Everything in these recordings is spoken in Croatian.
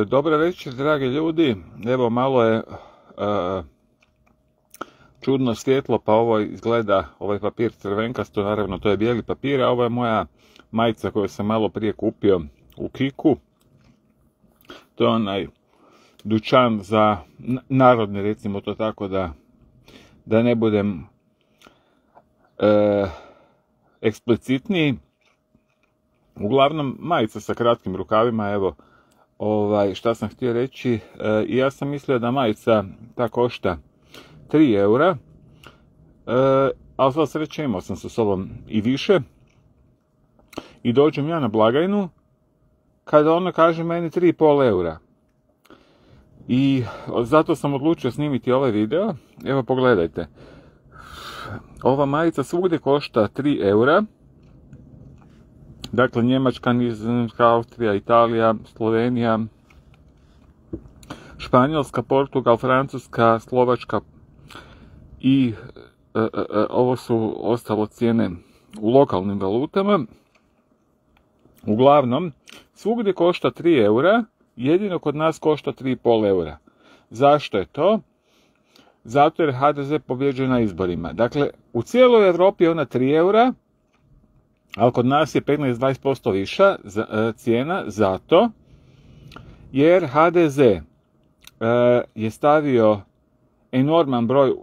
Dobar večer, dragi ljudi. Evo, malo je čudno svjetlo, pa ovo izgleda, ovaj papir crvenkasto, naravno to je bijeli papir, a ovo je moja majica koju sam malo prije kupio u Kiku. To je onaj dućan za narodni, recimo to tako, da ne budem eksplicitniji. Uglavnom, majica sa kratkim rukavima, evo, šta sam htio reći, ja sam mislio da majica ta košta 3 eura, ali sva sreća imao sam sa sobom i više. I dođem ja na blagajnu, kada ona kaže meni 3,5 eura. I zato sam odlučio snimiti ovaj video. Evo, pogledajte. Ova majica svugdje košta 3 eura. Dakle, Njemačka, Nizozemska, Austrija, Italija, Slovenija, Španjolska, Portugal, Francuska, Slovačka i ovo su ostalo cijene u lokalnim valutama. Uglavnom, svugdje košta 3 eura, jedino kod nas košta 3,5 eura. Zašto je to? Zato jer HDZ pobjeđuje na izborima. Dakle, u cijeloj Europi je ona 3 eura, ali kod nas je 15-20% viša cijena, zato jer HDZ je stavio enorman broj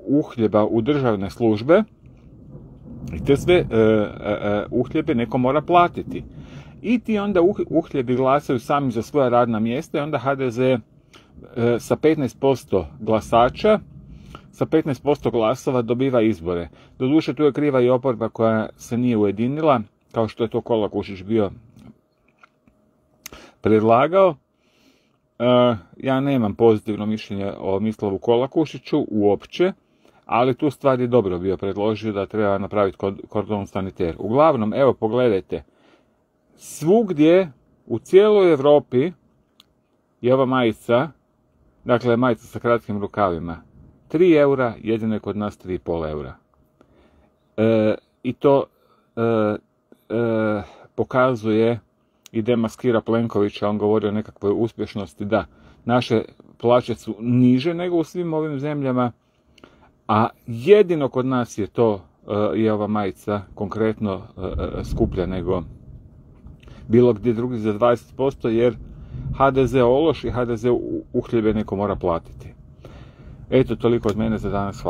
uhljeba u državne službe i te sve uhljebe neko mora platiti. I ti onda uhljebi glasaju sami za svoja radna mjesta i onda HDZ sa 15% glasača, sa 15% glasova dobiva izbore. Doduše, tu je kriva i oporba koja se nije ujedinila, kao što je to Kolakušić bio predlagao. Ja nemam pozitivno mišljenje o Mislavu Kolakušiću uopće, ali tu stvar je dobro bio predložio da treba napraviti kordon saniter. Uglavnom, evo, pogledajte, svugdje u cijeloj Europi je ova majica, dakle majica sa kratkim rukavima, 3 eura, jedino je kod nas 3,5 eura. I to pokazuje i demaskira Plenkovića, on govori o nekakvoj uspješnosti, da naše plaće su niže nego u svim ovim zemljama, a jedino kod nas je to, je ova majica konkretno skuplja nego bilo gdje drugi za 20%, jer HDZ ološ i HDZ uhljebe neko mora platiti. Eto, toliko od mene za danas. Hvala.